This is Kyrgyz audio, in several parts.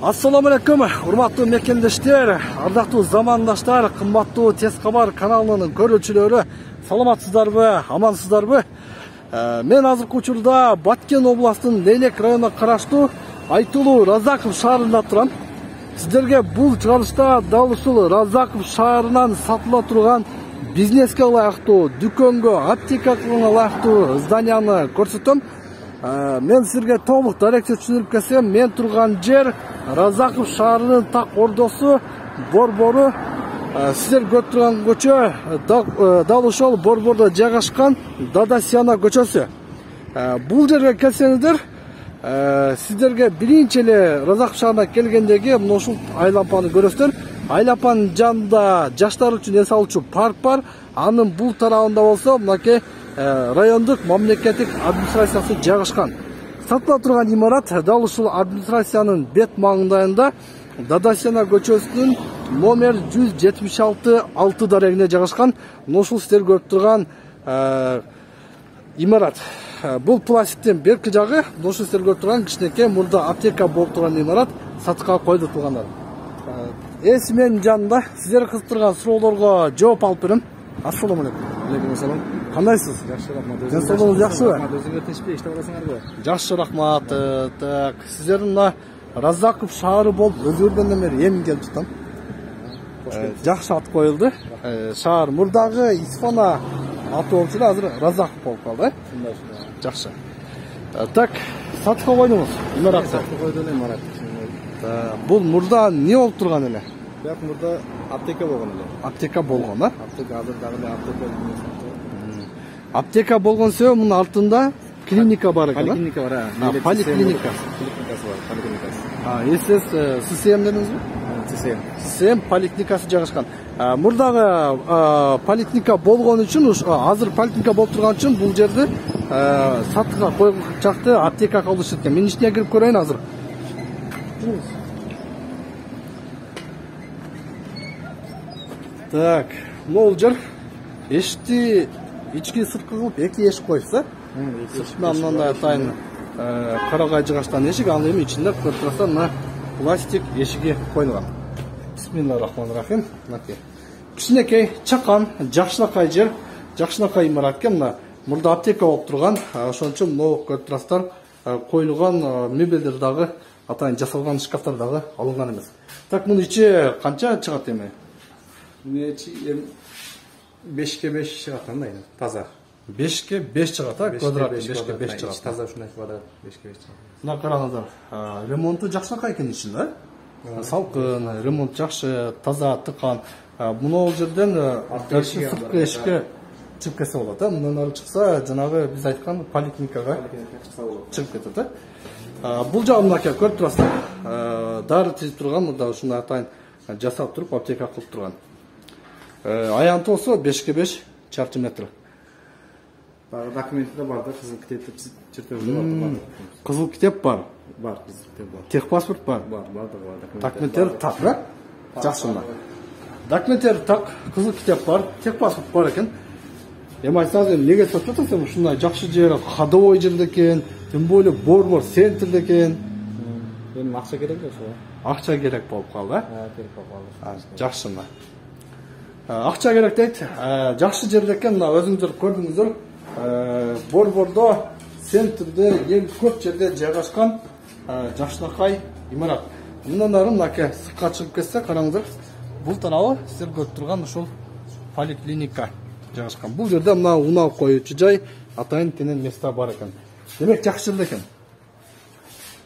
Assalamu alaikum, урматтуу мекендештер, ардактуу замандаштар, кымбаттуу Тез кабар каналынын көрүүчүлөрү, саламатсыздарбы, амансыздарбы? Мен азыркы учурда Баткен областынын Лейлек районуна караштуу Айтылуу Разаков шаарында турам. Сиздерге бул чыгарылышта дал ушул Разаков шаарынан сатыла турган бизнеске ылайыктуу, дүкөнгө, аптекага ылайыктуу зданияны көрсөтөм. Мен силерге толук даректе түшүндүрүп кетсем, мен турган жер Разаков шаарынын так ордосу Борбору. Сиздер көрүп турган көчө дал ошол Борбордо жайгашкан Дадасяна көчөсү. Бул жерге келсеңиздер, сиздерге биринчи эле Разаков шаарына келгендеги мына ушул айлапаны көрөсүздөр. Айлапанын жанында жаштар үчүн эс алуучу парк бар. Анын бул тарабында болсо мынакей райондук мамлекеттик администрациясы жайгашкан. Сатыла турган имарат дал ушул администрациянын бет маңындайында Дадасяна көчөсүнүн номер 176 дарегине жайгашкан. Мына ушул сиздер көрүп турган имарат. Бул пластиктин берки жагы, мына ушул сиздер көрүп турган кичинекей мурда аптека болуп турган имарат сатыкка коюлган. Менин жанымда сиздер кызык турган суроолорго жооп алып берем. Ассаламу алейкум. Алейкум ассалам. Кандайсыз? Жакшы, рахмат. Денсаулыгыңыз жакшыбы? Өзүңөр тынчпай иштеп атасыңарбы? Жакшы, рахмат. Так, сиздердин мына Разаков шаары болуп өзгөргөндөн бери эми келип жатам. Жакшы ат коюлду. Шаар мурдагы Исфана аты болчу да, азыр Разаков болуп калды. Жакшы. Так, сатыкка койдуңуз имаратты. Сатыкка койду эле имарат. Бул мурда эмне болуп турган эле? Бирок мурда аптека болгон эле. Аптека болгон, а? Аптека азыр дагы эле аптека. Аптека болгон себеби мунун артында клиника бар экен. Поликлиника бар, Поликлиника. Поликлиникасы бар, поликлиникасы. Сиз ССМ дедиңизби? ССМ поликлиникасы жайгашкан. Мурдагы поликлиника болгон үчүн, азыр поликлиника болуп турган үчүн бул жерди сатыкка койгучакты аптека кылышат экен. Мен ичине кирип көрөйүн азыр. Так, могул жер эшикти ички сырткы кылып эки эшик коюпса, сыртынан мындай атайын карагай жыгачтан эшик, анын эми ичинде көрүп турсаңар мына пластик эшиги коюлган. Бисмиллахиррахманиррахим. Мынакей кичинекей чакан, жакшынакай жер, жакшынакай имарат экен. Мына мурда аптека болуп турган, ошон үчүн могу көрүп турасыздар, коюлган мебелдер дагы атайын жасалган шкафтар дагы алынган эмес. Так, мунун ичи канча чыгат эми? Муну ичи 5ке 5 чыгат андай, таза. 5ке 5 чыгат, квадрат 5ке 5 чыгат. Таза ушундай квадрат 5ке 5 чыгат. Мына караңыздар, ремонту жакшынакай экен ичинде. Салкын, ремонт жакшы, таза, тыккан. Мына жерден сырткы эшикке чыгып кетсе болот, мындан ары чыкса, жанагы биз айткан поликлиникага чыгып кетет. Бул жагы мынакей көрүп турасыздар. Дары тизип турган, мында ушундай атайын жасап туруп аптека кылып турган. Аянты болсо 5ке 5 чарчы метр. Документте бар да, кызыл китепте чертежде бар. Кызыл китеп бар. Бар, кызыл китеп бар. Техпаспорт бар. Бар, бар. Документтер так, да? Жакшы мына. Документтер так, кызыл китеп бар, техпаспорт бар экен. Эми айтсаңыз, эмнеге сатып атасыз? Ушундай жакшы жер, ходовой жерде экен, тем более Борбор центрде экен. Эми акча керек да ошо. Акча керек болуп калды, Керек болуп калды. Жакшы мына. Акча керек дейт. Жакшы жерде экен, мына өзүңүздөр көрдүңүздөр. Борбордо центрде эң көп жерде жайгашкан жакшынакай имарат. Мындан ары мынакей сыртка чыгып кетсе, караңыздар. Бул тарабы сиздер көрүп турган ушул поликлиника жайгашкан. Бул жерде мына унаа коюучу жай, атайын тенен места бар экен. Демек жакшы жерде экен.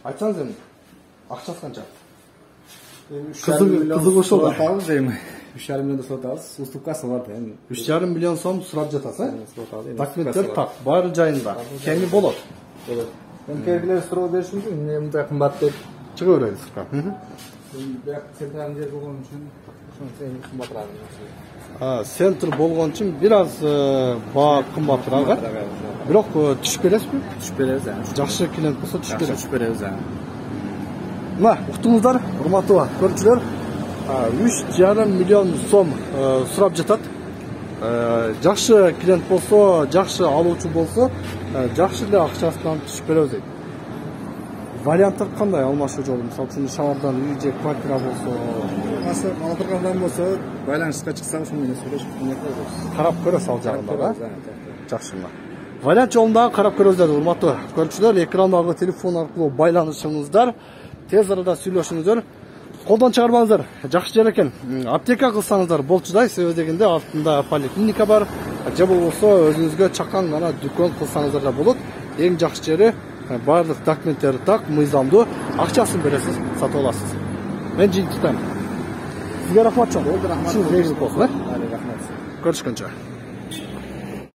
Айтсаңыз эми, акчасы канча? Кызык ошол да. 3,5 миллион сот алабыз. Уступкасы бар да. 3,5 миллион сом сурап жатасыз, Документтер так, баары жайында. Кеңи болот. Келгилер суроо бериши мүмкүн, эмне мындай кымбат деп чыга берели сыртка. Бирок централдын жер болгон үчүн ошончо кымбатыраак. Центр болгон үчүн бир аз баа кымбатыраак. Бирок түшүп бересизби? Түшүп беребиз. Жакшы клиент болсо түшүп беребиз. Мына, уктуңуздар, урматтуу көрүүчүлөр. 3,5 миллион сом сурап жатат. Жакшы клиент болсо, жакшы алуучу болсо, жакшы эле акчасынан түшүп беребиз дейт. Варианттар кандай алмашуу жолу? Мисалы үчүн шаардан үй же квартира болсо, Алдыргандан болсо, байланышка чыксак, ошол менен сүйлөшүп көйбүз. карап көрөсүз ал жагында да. Жакшы мына. Вариант жолунда карап көрөздөр, урматтуу көрүүчүлөр. Экрандагы телефон аркылуу байланышыңыздар, тез арада сүйлөшүңүздөр. Колдон чыгарбаңыздар. Жакшы жер экен. Аптека кылсаңыздар болчудай, себеби дегенде артында поликлиника бар. Же болбосо өзүңүзгө чакан гана дүкөн кылсаңыздар да болот. Эң жакшы жери барлык документтери так, мыйзамдуу, акчасын бересиз, сатып аласыз. Мен жыйынтыктайм. Сизге рахмат чоң. Рахмат. Көрүшкөнчө.